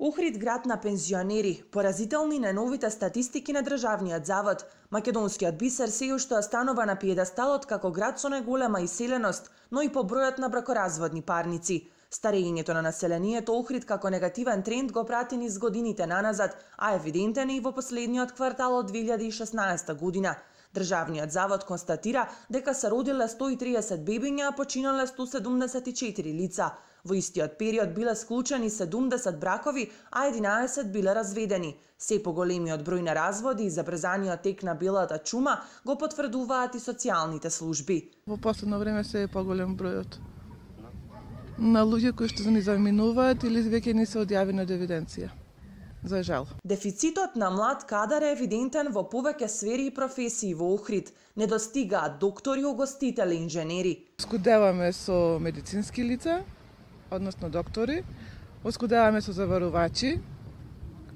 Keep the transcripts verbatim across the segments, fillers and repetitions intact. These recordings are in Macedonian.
Охрид град на пензионери, поразителни најновите статистики на Државниот завод. Македонскиот бисер се уште останува на пиедесталот како град со најголема иселеност, но и по бројот на бракоразводни парници. Старењето на населението Охрид како негативен тренд го прати низ годините наназад, а евидентен е и во последниот квартал од две илјади и шеснаесета година. Државниот завод констатира дека се родиле сто и триесет бебиња, а починале сто седумдесет и четири лица. Во истиот период биле склучени седумдесет бракови, а единаесет биле разведени. Се поголемиот број на разводи и забрзаниот тек на белата чума го потврдуваат и социјалните служби. Во последно време се е поголем бројот на луѓе кои што ни заминуваат или веќе не се одјавени од евиденција. За жал. Дефицитот на млад кадар е евидентен во повеќе сфери и професии во Охрид. Недостигаат доктори, угостители, инженери. Оскудеваме со медицински лица, односно доктори, оскудеваме со заварувачи,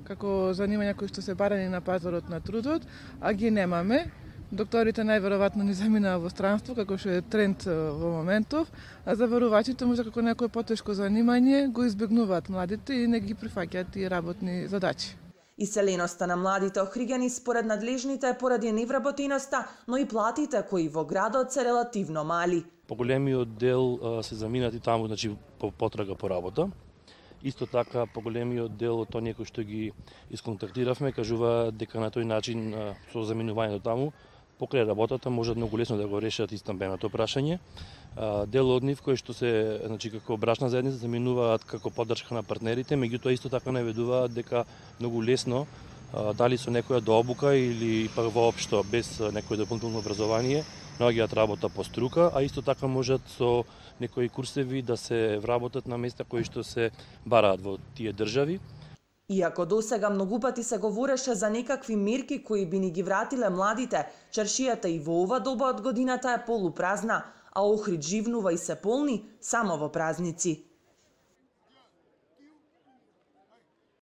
како занимања кои што се барани на пазарот на трудот, а ги немаме. Докторите најверојатно ни заминаа во странство, како што е тренд во моментов, а заварувачите може како некој потешко занимање го избегнуваат младите и не ги прифаќаат и работни задачи. Иселеноста на младите охриѓани според надлежните е поради невработеноста, но и платите кои во градот се релативно мали. Поголемиот дел а, се заминати таму, значи по потрага по работа. Исто така поголемиот дел од оние кои што ги исконтактиравме кажува дека на тој начин а, со заминувањето таму покрај работата можат многу лесно да го решат и стамбеното прашање. Дел од нив кои што се, значи како брачна заедница заминуваат како поддршка на партнерите, меѓутоа исто така наведуваат дека многу лесно дали со некоја дообука или пак воопшто без некој дополнително образование наоѓаат работа по струка, а исто така можат со некои курсеви да се вработат на места кои што се бараат во тие држави. Иако досега многу пати се говореше за некакви мерки кои би ни ги вратиле младите, чаршијата и во ова доба од годината е полупразна, а Охрид живнува и се полни само во празници.